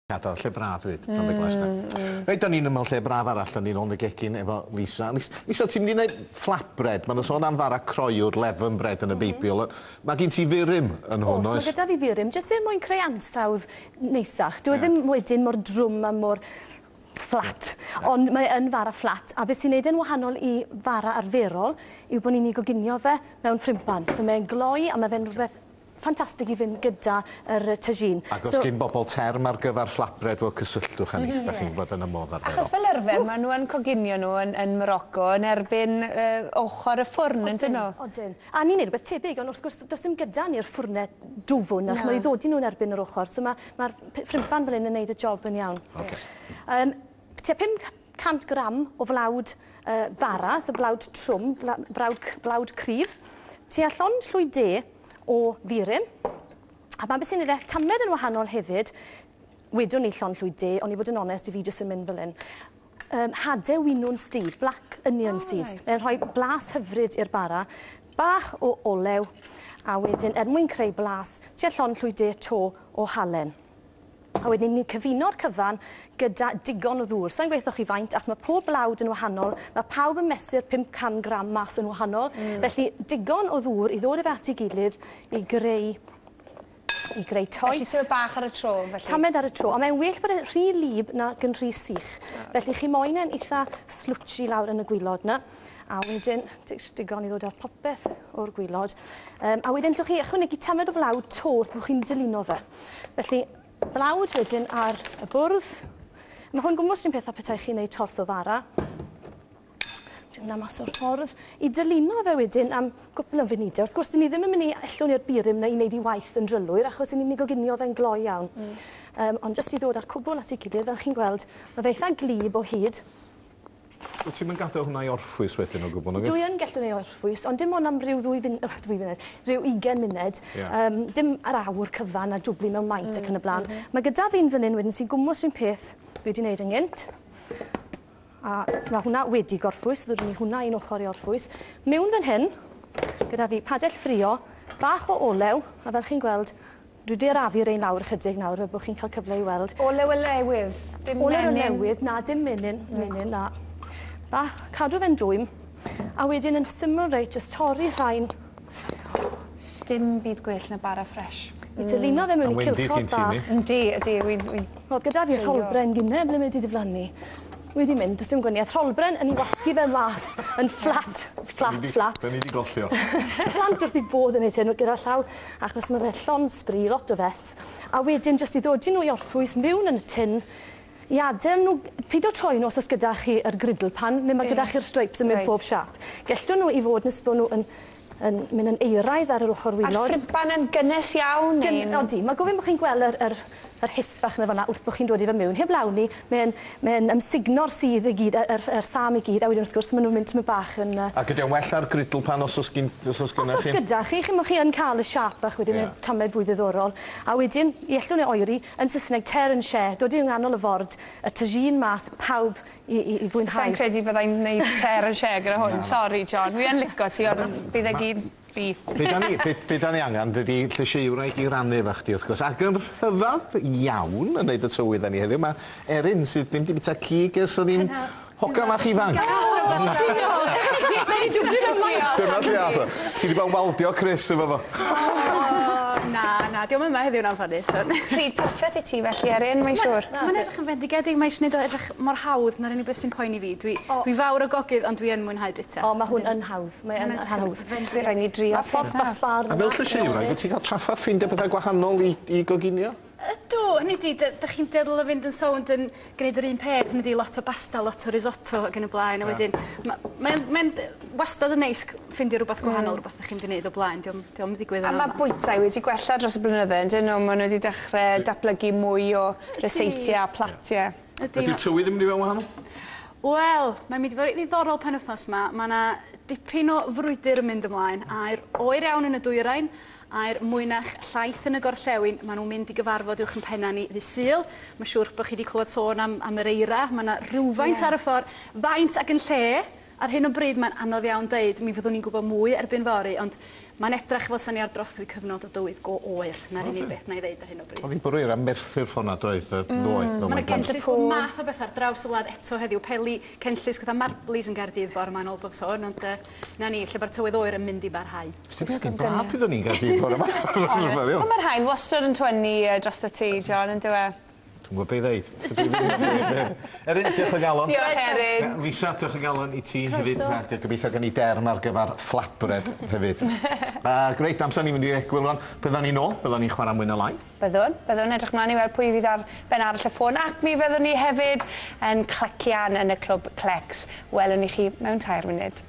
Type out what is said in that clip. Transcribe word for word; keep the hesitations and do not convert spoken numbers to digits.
Gadael lle braf hefyd, Llandeglas mm, mm. Reit, da ni'n ymweld lle braf arall, da ni'n ôl yn y gegin efo Lisa. Lisa, ti'n mynd i wneud flatbread? Mae'n sôn am fara croyw'r leaven bread yn y Beibl. Mae gen ti furum yn hwn, oes? Oes, mae gyda fi furum, jyst er mwyn creu ansawdd neisach. Dwi yeah. ddim wedyn mor drwm a mor fflat, ond mae yn fara fflat. A beth sy'n neud yn wahanol i fara arferol yw bod ni'n ei goginio fe mewn ffrimpan. So mae'n gloi a mae fe'n rhywbeth ffantastig i fynd gyda yr tagine. Ac os so, gyn bobl term ar gyfer flatbread, wel cysylltwch â ni, mm -hmm. da chi'n gwybod yn y modd arferol. Achos fel arfer, maen nhw yn coginio nhw yn, yn Morocco yn erbyn uh, ochr y ffwrn, yn dyn nhw? Odyn. A ni'n neud rhywbeth tebyg, ond wrth gwrs, does dim gyda ni'r ffwrnau dwfwn, achos mae'n ddodi nhw'n erbyn yr ochr, so mae'r ma ffrimpan fel hyn yn neud y job yn iawn. Okay. Um, tua pum cant gram o flawd uh, bara, so blawd trwm, blawd, blawd cryf, tua llond llwy de o furum. A mae beth sy'n neud e tamed yn wahanol hefyd, wedwn ni llond llwy de, ond i fod yn onest, i fi jyst yn mynd fel hyn. Um, hade winwns du, black onion oh, seeds. Right. Mae'n rhoi blas hyfryd i'r bara, bach o olew, a wedyn, er mwyn creu blas, tua llond llwy de to o halen. A wedyn ni'n cyfuno'r cyfan gyda digon o ddŵr. Sa'n gweithio chi faint, achos mae pob blawd yn wahanol, mae pawb yn mesur pum can gram mas yn wahanol. Mm. Felly digon o ddŵr i ddod efo at ei gilydd i greu, i greu toes. Felly tamed bach ar y tro, felly? Tamed ar y tro, a mae'n well bod e'n rhy lib na gyn rhy sych. Felly chi moyn e'n eitha slwtsi lawr yn y gwylod na. A wedyn, digon i ddod â popeth o'r gwylod. Um, a wedyn, llwch chi ychwanegu tamed o flawd to wrth bod chi'n dylunio fe. Felly, blawd wedyn ar y bwrdd. Mae hwn gwmws un peth a petai chi'n neud torth o fara. Dwi'n mynd mas o'r ffordd. I dylunio fe wedyn am gwpl o funudau. Wrth gwrs, dyn ni ddim yn mynd i ellwn i'r burum na i wneud i waith yn drylwyr, achos ni'n mynd i goginio fe'n gloi iawn. Mm. Um, ond jyst i ddod â'r cwbl at ei gilydd, fel chi'n gweld, mae fe eitha glib o hyd. Wyt ti'n mynd gadael hwnna i orffwys wedyn o gwbl? Dwi yn gallu ei orffwys, ond dim ond am ryw ddwy fun ddwy funud, rhyw ugain munud. Yeah. Um, dim ar awr cyfan a dwblu mewn maint mm, ac yn y blaen. Mm -hmm. Mae gyda fi'n fan hyn wedyn sy'n gwmws un peth dwi wedi wneud yn gynt. A mae hwnna wedi gorffwys, ddod ni hwnna un ochr i orffwys. Mewn fan hyn, gyda fi padell ffrio, bach o olew, a fel chi'n gweld, dwi wedi arafu rein lawr ychydig nawr, fel bod chi'n cael cyfle i weld. Olew olewydd, dim menyn? Olew olewydd, na, dim menyn, menyn, na. Bach, cadw fe'n dwym, a wedyn yn syml reit, jyst torri rhain. Sdim byd gwell na bara ffres. I dylunio fe mewn i cylchod bach. Yndi, yndi, wy'n... Roedd gyda fi rholbren gynne, ble mae wedi diflannu. Wedi mynd, does dim gwaniaeth. Rholbren yn ei wasgu fe mas, yn fflat, fflat, fflat. Da ni wedi gollio. Plant wrth i bodd yn neud hyn gyda llaw, achos mae fe llond sbri, lot o fes. A wedyn, jyst i ddod nhw i orffwys mewn yn y tin, i adael nhw, pido troi nhw os oes gyda chi yr griddle pan, neu mae gyda chi'r stripes yn mynd right. pob siâp. Gellwn nhw i fod nes bod nhw yn, yn mynd yn eiraidd ar yr ochr wylod. A'r ffriban yn gynnes iawn? Gyn, odi, mae gofyn bod chi'n gweld yr, yr, yr hiss fach na fan'na wrth bod chi'n dod i fe mewn. Heb lawn ni, mae'n mae ymsugno'r sudd i gyd, yr, yr sam i gyd, a wedyn wrth gwrs maen nhw'n mynd tymed bach yn... Uh... Ac ydy o'n well ar griddle pan os oes gyn, os oes gyda chi? Os oes gyda chi, chi'n chi yn cael y siâp bach wedyn, yeah. Tamed fwy ddiddorol. A wedyn, i ellwn e oeri, yn Saesneg, tear and share, dod i'n nghanol y ford, y tagine mas, pawb i, i, i fwynhau. Sa'n credu byddai'n gwneud tear and share gyda hwn. Sori, John, wi yn lico ti, ond bydd e gyd... Be da ni, be, be da ni angen, dydy llysieuwraig i rannu efo chdi, wrth gwrs. Ac yn rhyfedd iawn yn neud y tywydd â ni heddiw, mae Erin sydd ddim wedi bwyta cig ers oedd hi'n hogan fach ifanc. Dyna lle ath o. Ti wedi bod yn waldio Chris efo fo. Na, na, diolch yma heddiw'n anffodus. Pryd perffaith i ti felly, Erin, mae'n siŵr. Mae'n edrych yn fendigedig, mae'n eisiau gwneud o edrych mor hawdd na'r unig beth sy'n poeni fi. Dwi, oh. dwi fawr o gogydd, ond dwi yn mwynhau bita. O, mae hwn yn hawdd. Mae yn hawdd. Fe rhaid ni drio. Mae ffordd bach sbar. A fel llysieuwraig, wyt ti'n cael trafferth ffeindio pethau gwahanol i, i goginio? Ydw, hynny di, dych chi'n dueddol o fynd yn sownd yn gwneud yr un peth, hynny di lot o basta, lot o risotto ac yn y blaen, a wedyn, mae'n mae wastad yn neis ffeindio rhywbeth gwahanol, mm. rhywbeth dych chi'n mynd i wneud o blaen, diolch yn digwydd yn A mae bwytai wedi gwella dros y blynydde, ydyn nhw, maen nhw wedi dechrau datblygu mwy o ryseitiau a platiau. Ydy tywydd yn mynd i fewn wahanol? Wel, mae'n mynd i fod yn ddiddorol penwythnos yma. Mae yna dipyn o frwydr yn mynd ymlaen. Aer oer iawn yn y dwyrain, aer mwynach llaith yn y gorllewin. Maen nhw'n mynd i gyfarfod uwch yn penna ni ddydd Sul. Mae'n siŵr bod chi wedi clywed sôn am, am yr eira. Mae yna rhywfaint yeah. ar y ffordd, faint ac yn lle. Ar hyn o bryd mae'n anodd iawn deud, mi fyddwn ni'n gwybod mwy erbyn fory, ond Mae'n edrach fel 'sa ni ar drothwy cyfnod o dywydd go oer. 'Na'r unig beth 'na i ddeud ar hyn o bryd. Oedd hi'n bwrw eira Merthyr ffordd 'na doedd, yy, ddoe. fel Mae mae'n yna cenllysg bob math o beth ar draws y wlad eto heddiw. Peli cenllysg fatha marblis yn Gaerdydd bore 'ma yn ôl bob sôn, ond uh, 'na ni, lle mae'r tywydd oer yn mynd i barhau. Sdim byd yn braf pryd o'n i'n Gaerdydd bore 'ma. Rhyfedd iawn. Ond mae'r haul wastad yn twynnu yy, dros y tŷ, John, yn dyw e? Dwi'n gwybod be i ddeud. Dwi ddim yn gwbod be i ddeud. Erin, diolch o galon. Diolch, Erin. Lisa, diolch o galon i ti hefyd. A gobeithio gen i derm ar gyfer flatbread hefyd. Uh, greit, amser ni'n mynd i'r egwyl rwan. Byddwn ni nôl, byddwn ni'n chwarae mwy na lai. Byddwn, byddwn edrych mlaen i weld pwy fydd ar ben arall y ffôn ac mi fyddwn ni hefyd yn clecian yn y clwb Clecs. Welwn ni chi mewn tair munud.